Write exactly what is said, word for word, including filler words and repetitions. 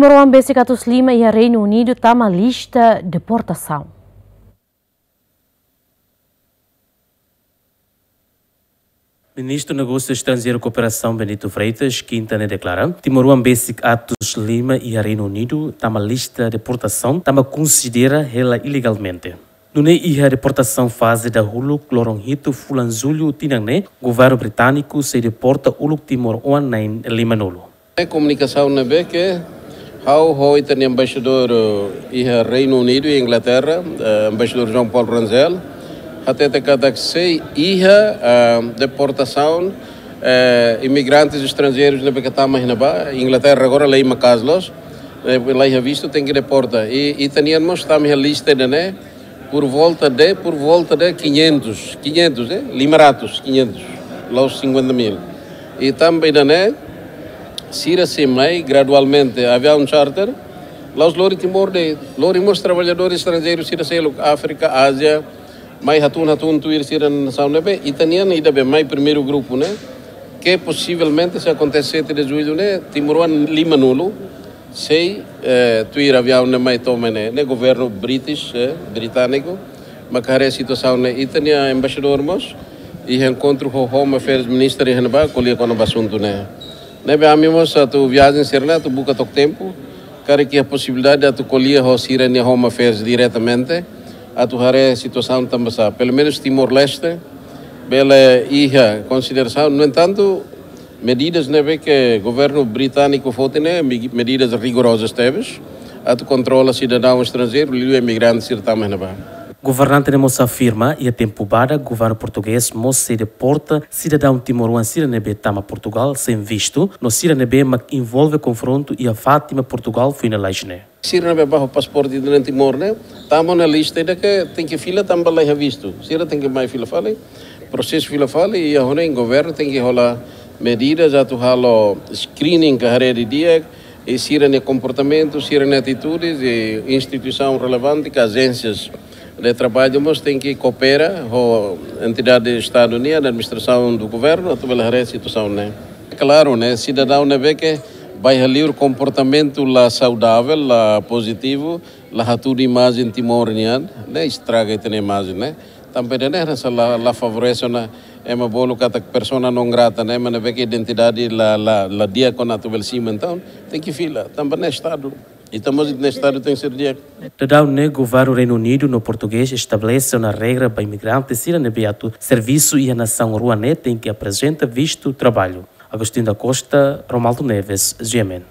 Timoroan besik atus lima iha Reinu Unidu tama lista deportasaun. Ministru Negósiu Estranjeiru Kooperasaun Bento Freitas, kinta ne'e deklara, timoroan besik atus lima iha Reinu Unidu tama lista deportasaun, tanba konsidera hela ilegalmente. Nune'e iha deportasaun faze dahuluk loron hitu fulan Jullu tinan ne'e, governu britániku sei deporta uluk timoroan na'in limanulu. Komunikasaun ne'ebé ke ha'u ho ita-nia embaixadór, eh, iha Reinu Unidu, iha Inglaterra, eh, embaixadór João Paulo Rangel, hatete katak sei iha, eh, deportasaun, eh, imigrantes estranjeirus ne'ebé ke tama iha ne'ebá, Inglaterra agora lei maka'as loos, eh, la iha vistu tenke deporta. I ita-nian mós tama iha lista ida-ne'e, por volta de, por volta de quinhentos, quinhentos, eh? Lima ratus, quinhentos, la'ós cinquenta mil. I tanba ida-ne'e, sira sei mai gradualmente, aviaun charter, la'ós lori Timor de'it, lori mós traballadór estranjeiru sira seluk, Áfrika, Ázia, mai hatún-hatún tuir sira-nia nasaun ne'ebé, ita-nian ida be mai primeiru grupu ne'e, ke posivelmente se akontese sete de Jullu ne'e, timoroan limanulu, sei, eh, tuir aviaun ne'e mai to'o mai ne'e, ne'e governu British, eh, britániku, maka haree situasaun ne'e. Ita-nia embaixadór mós, iha enkontru ho Home Affairs Minister iha ne'ebá, ko'alia kona-ba asuntu ne'e. Ne'ebé ami mós atu viajen sira-ne'e, atu buka took tempu, karik iha posibilidade atu ko'alia ho sira-nia Home Affairs diretamente, atu haree situasaun tanba sá. Pelumenus Timor-Leste, bele iha konsiderasaun. No entantu, medidas ne'ebé ke governu britániku foti ne'e, me-, medidas rigorozas tebes, atu kontrola sidadaun estranjeiru, liuliu imigrante sira tama iha ne'ebá. Governante ne'e mós afirma, iha tempu badak, governu portugés mós sei deporta sidadaun timoroan sira ne'ebé tama Portugal sein vistu, no sira ne'ebé mak envolve konfrontu iha Fátima, Portugal, foin lalais ne'e. Sira ne'ebé ba ho pasaporte ida-ne'e Timor ne'e, tama ona lista ida ke tenke fila tanba la iha vistu. Sira tenke mai fila fali, prosesu fila fali, i agora governu tenke hola medidas atu halo screening ka haree didi'ak, i sira-nia komportamentu, sira-nia atitudes, i instituisaun relevante ka ajénsias de traballu mós tenke koopera ho entidade Estadu nian, administrasaun do governu, atu bele haree situasaun ne'e. Klaru, ne'e, sidadaun ne'ebé ke ba iha liur komportamentu la saudavel, la pozitivu, la hatudu imajen Timor nian, ne'e estraga ita-nia imajen, ne'e. Tanba ida-ne'e hanesan la, la favorese ona ema bolu katak persona non grata, ne'e, ema ne'ebé ke identidade la, la, la di'ak ona atu bele simu, entaun tenke fila, tanba ne'e Estadu. Ita mós ita-nia Estadu tenke ser di'ak. Daudaun ne'e governu Reinu Unidu no portugés estabelese ona regra ba imigrante sira ne'ebé atu servisu iha nasaun rua ne'e tenke aprezenta vistu traballu. Agostinho da Costa, Romaldo Neves, G M N.